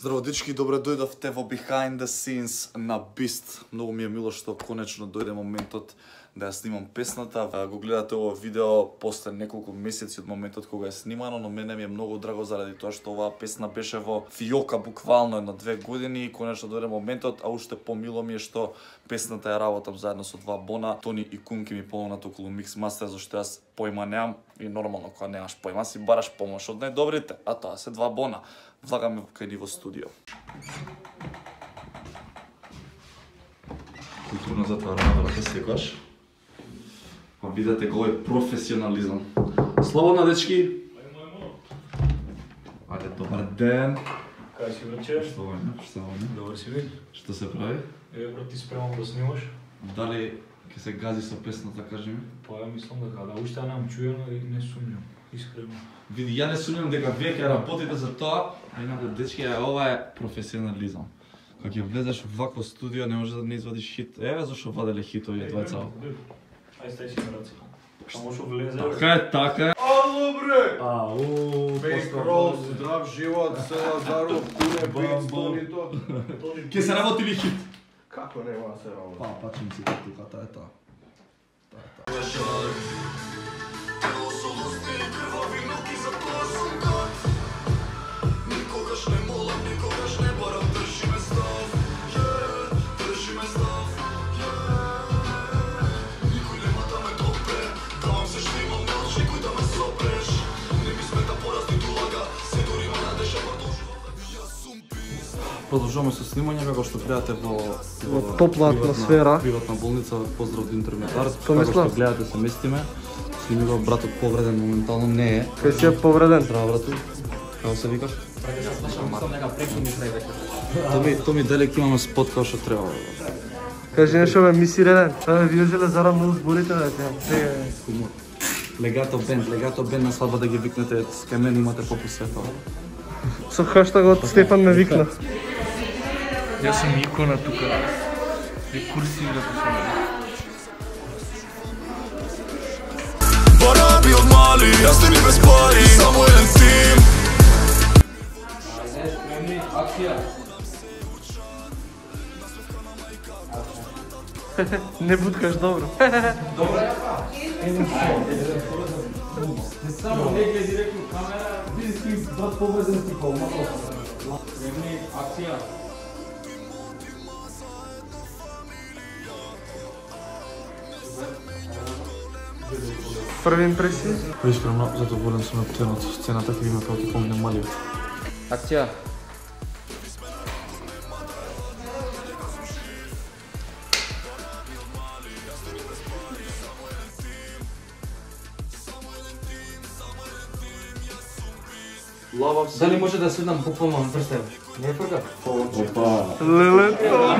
Здраво дечки, добре дојдовте во Behind the Scenes на Beast. Многу ми е мило што конечно дојде моментот да ја снимам песната. Го гледате ово видео после неколку месеци од моментот кога е снимано, но мене ми е многу драго заради тоа што оваа песна беше во фиока буквално едно 2 години и конечно дојде моментот, а уште помило ми е што песната ја работам заедно со два Бона. Тони и Кунки ми помогнат околу микс мастер, зашто јас појма немам и нормално кога немаш појма си бараш помош од најдобрите, а тоа се два Бона. Влагаме кај ни во студио. Културно затварана врата секогаш. Па видете го е професионализам. Слободно дечки. Ајде, добар ден. Кај си враче? Слободно. Добар си ви. Што се прави? Брат, ти спремам да снимаш? Дали ќе се гази со песната, кажи ми? Па ја мислам дека да, уште немам чуено и не сумњам, искрено. Види, ја не сумњам дека вие ќе работите за тоа, а инаку дечки, ова е професионализам. Кога ќе влезеш во вакво студио, не може да не извадиш хит. Еве зашо ваделе хитови двајца. Ај стај си на раци. Само што влезе. Така е. Ало бре! Ау, Бейк рол, здрав живот, се Лазаров, куне, бейк, Тонито. Ке се работи ли хит? Како нема да се работи? Па, пачем си тука, таа е тоа. Продолжуваме со снимање како што гледате во топла атмосфера. Приватна болница, поздрав до интерметар. Како што гледате се местиме. Сними го братот повреден моментално не е. Кај си е повреден? Здраво брату. Како се викаш? Томи далек имаме спот како што треба. Кажи нешто бе, миси реден. Абе, вие зеле зарам многу зборите да те. Легато бенд на свадба да ги викнете, кај мене имате попусетова. Со хаштагот Стефан ме викна. Јас сум икона тука. И курси да посмотрам. Пара би од мали, јас не ми без пари, само еден тим. Ајде, акција. Не буткаш добро. Добро е па. Не само не гледи директно камера, види си брат повреден ти колма. Време акција. Први импресии? Искрено задоволен сум од сцената, ќе има како ќе помине малиот. Акција. Дали може да седнам буквално на прстен? Не е фрка? Опа. Лелето.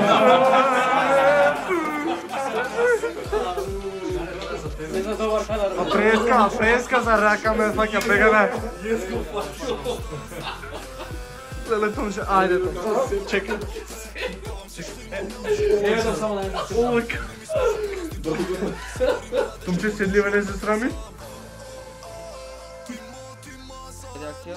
Преска за рака ме фаќа бегаме. Лелето може, ајде тоа. Чекай. Еве да само да Ой. Тумче седливе не се срами? Акција.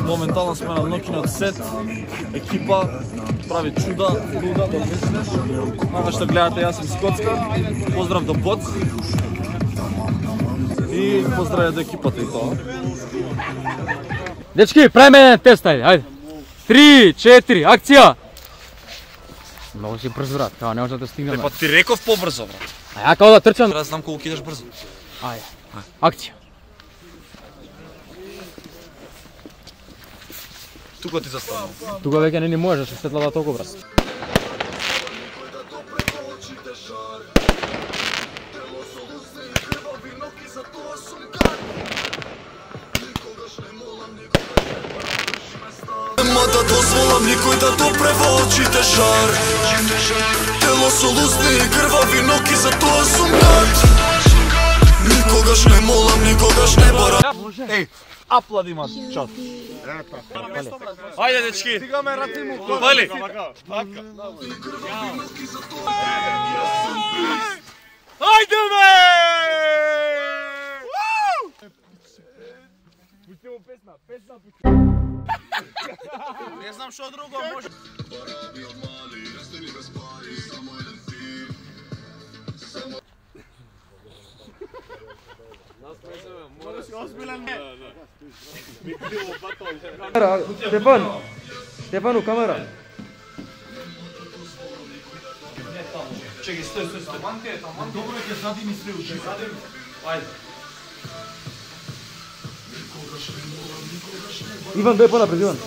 Моментално сме на ноќниот сет, екипа прави чуда, луда, да мислиш. Ова што гледате, јас сум Скотска, поздрав до Боц. И поздравје до екипата и тоа. Дечки, правиме тест, ајде. 3, 4, акција! Многу си брз, брат, као не може да стигнеме. Па ти реков побрзо, брат. А ја као да трчам. Треба да знам колку идеш брзо. Ајде, акција. Тука ти застанам. Тука веќе не ни можеш, светлава толку, брат. Да дозволам никој да допре во очите жар. Тело со лусни и крвави ноки, за тоа сум гад. Никогаш не молам, никогаш не барам. Еј, Аплади ма час. Ајде дечки. Стигаме раци му. Пали. Ајде бе! Пуштимо песна. Не знам што друго може. Стефану, камера. Чекай, стој. Таманте. Добро ќе задими све уште. Ајде. Иван, дој понапред, Иван.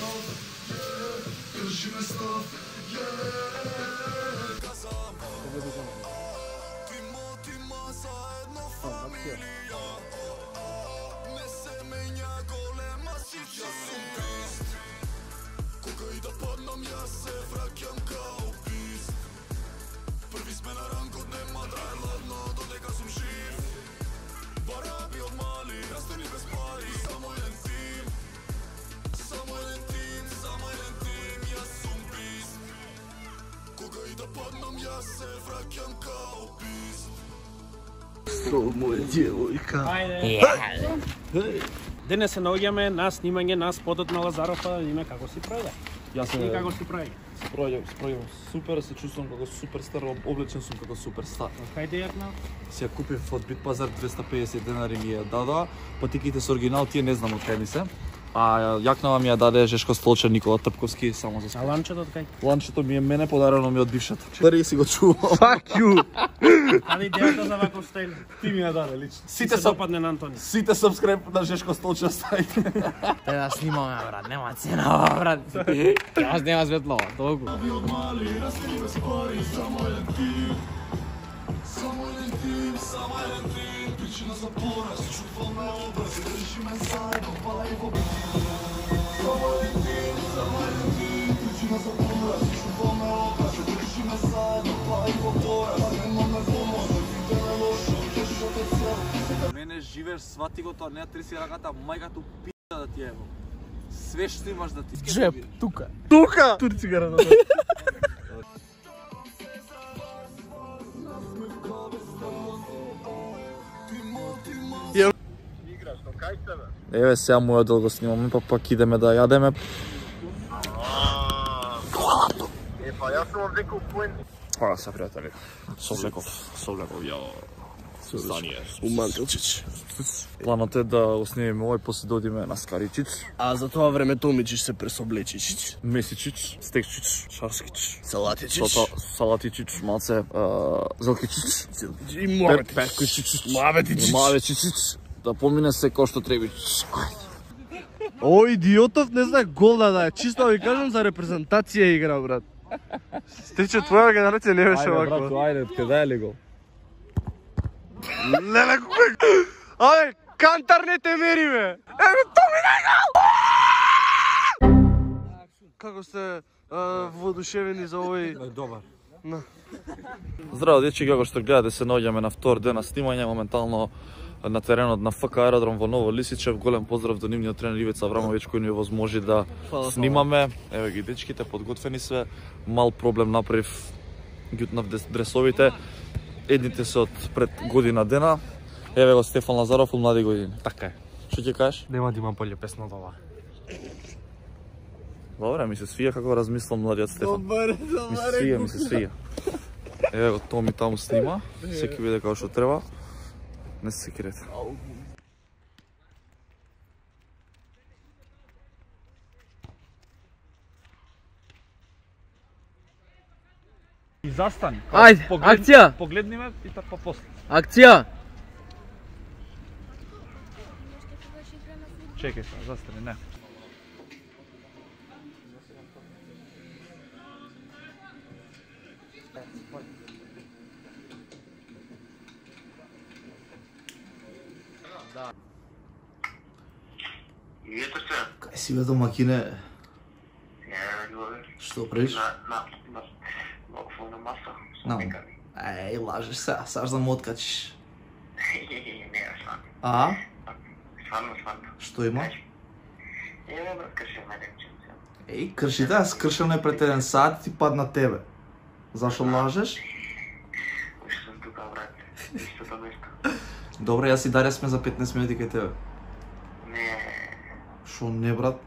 Денес се наоѓаме на снимање на спотот на Лазаров, да видиме како си пројде. Јас И како си пројде. спројам супер, се чувствувам како суперстар, облечен сум како суперстар. Кајде јакна? Си ја купив од Бит Пазар 250 денари ми ја дадоа, патиките со оригинал тие не знам од кај ми се. А јакнава ми ја даде Жешко Столчев Никола Трпковски само за А спорт. ланчето од кај? Ланчето ми е мене подарено ми од бившата. Дари си го чувам. Fuck you. Каде идејата за ваков стайл? Ти ми ја даде лично. Сите се допадне на Антони. Сите subscribe на Жешко Столчев ставите. Те да снимаме, брат, нема цена, брат. Јас нема светло, толку. Мене живееш, свати го тоа, не ја треси раката, мајката пида да ти ево. Све што имаш да ти Джеп, тука. Тука! Турци гара на Еве сега мојот дел го снимаме, па пак идеме да јадеме. Хвала се, пријатели. Совлеков, ја. Умантилчич. Планот е да го снимиме овој, после да одиме на Скаричич, А за тоа време Томичич се пресоблечич. Месичич, Стекчич, Шарскич, Салатичич. Салатичич, малце, Зелкичич, И Муабетич. Пеккичич, Муабетич. Мавечичич, да помине се кој што требич. Ој идиотов не знае гол да даде. Чисто ви кажам за репрезентација игра, брат. Стриче твоја генерација не беше ваква. ајде, каде е ли го? Леле кој. Ајде, кантар не те мери бе. Ево Томи дај гол. Како сте воодушевени за овој? Добар. На. Здраво, дечки, како што гледате, се наоѓаме на втор ден на снимање, моментално на теренот на ФК аеродром во Ново Лисичев. Голем поздрав до нивниот тренер Ивица Аврамовиќ кој ни овозможи да снимаме. Еве ги дечките, подготвени све. Мал проблем направив, ѓутнав дресовите. Едните се од пред година дена. Еве го Стефан Лазаров од млади години. Така е. Што ќе кажеш? Нема да имам поле песна од ова. Добре, ми се свија како размислам младиот Стефан. Ми се свија. Еве го Томи таму снима, секи биде како што треба. Не се секирете. И застани. Ајде, акција! Погледни ме и така после. Акција! Чекај се, застани, не. Кај си бе домакине? Што правиш? На маса. Еј, лажеш се, саш да му откачиш. Не, сварно. А? Сварно. Што има? брат, крши ме речем. Еј, кршите, аз кршам не пред 1 сат и ти падна тебе. Зашо лажеш? Уште сум тука, брат. Истото нешто. Добре, јас и Дарја сме за 15 минути кај тебе. Не. Шо не, брат?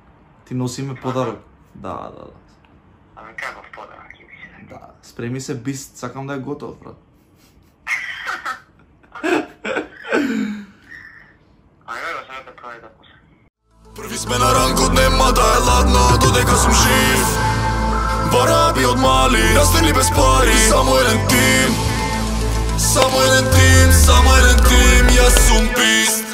Ти носи ме подарок. Да. Ами каков подарок ќе бише? Да, спреми се бист, сакам да е готов, брат. Ајде, сега те прави да пусе. Први сме на ранкот, нема да е ладно, додека сум жив. Бараби од мали, растени без пари. Само еден тим, јас сум бист.